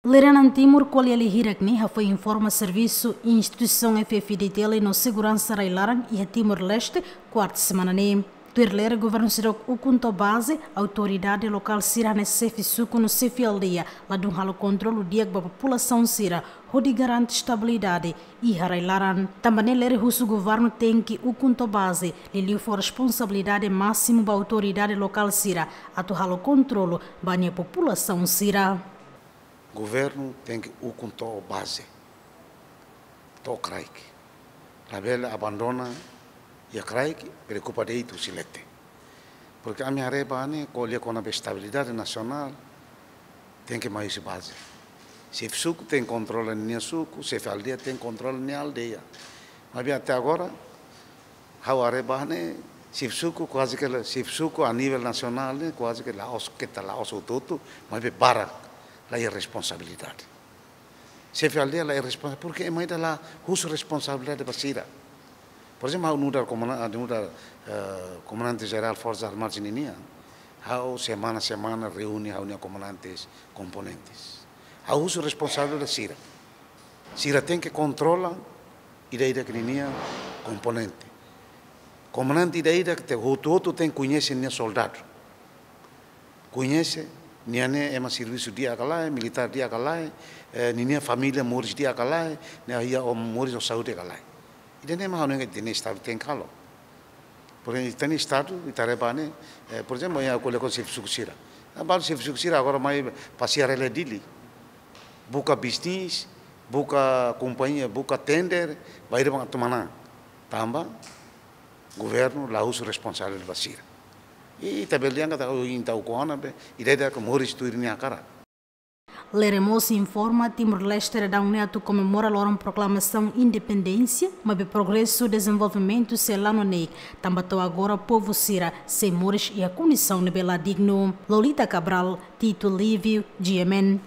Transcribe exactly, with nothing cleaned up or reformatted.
Lideransa Timor ko'alia hirak ne'e hafoin informa servisu instituisaun F F D T L no seguransa rai-laran iha Timor-Leste, kuarta semana ne'e. Tuir lere governu seidauk ukun to'o baze, autoridade lokál sira hanesan xefe suku no xefe aldeia ladún halo kontrolu di'ak ba populasaun sira, hodi garante estabilidade iha rai-laran. Tanba ne'e lere husu governu tenke ukun to'o baze, liuliu fó responsabilidade másimu ba autoridade lokál sira atu halo kontrolu ba nia populasaun sira. Governu tenke ukun to'o baze, to'o kraik. Labele abandona iha kraik, preokupa de'it husi leten. Porke ami haree ba ne'e, ko'alia kona-ba estabilidade nasionál, tenke mai husi baze. Xefe suku tenke kontrola nia suku, xefe aldeia tenke kontrola nia aldeia. Maibé até agora, ha'u haree ba ne'e, xefe suku kuaze ke la, xefe suku a nivel nasionál ne'e kuaze ke la'ós, keta la'ós hotu-hotu, maibé barak la iha responsabilidade. Xefe aldeia la iha responsa-, porke ema ida la husu responsabilidade ba sira. Por ezemplu, ha'u nu'udar komanda-, nu'udar, eh, komandante jerál Forsas Armadas ninian, ha'u semana-semana reúne ha'u-nia komandantes komponentes. Ha'u husu responsabilidade sira. Sira tenke kontrola ida-idak ninia komponente. Komandante ida-idak tenke hotu-hotu tenke koñese nia soldadu. Koñese, nia ne'e ema servisu di'ak ka lae, militár di'ak ka lae, eh, ninia família moris di'ak ka lae, nia iha o moris ho saúde ka lae. Ida-ne'e mak ha'u hanoin katak ita-nia Estadu tenke halo. Porke ita-nia Estadu, ita haree ba ne'e, eh, por ezemplu, iha ko'alia kona-ba xefe suku sira. Ah, balu xefe suku sira agora mai pasiar hela iha Dili. Buka bisnis, buka kompañia, buka tender, bainhira bang atu manán. Tanba governu la husu responsabilidade ba sira. I ita bele dehan katak, oh, ita ukun ona be, ida-idak moris tuir nia hakarak. Lere mós informa Timor-Leste daudaun ne'e atu komemora loron proklamasaun independénsia, maibé progresu dezenvolvimentu sei la noneik, tanba to'o agora povu sira sei moris iha kondisaun ne'ebé la dignu. Lolita Cabral, Tito Lívio, G M N.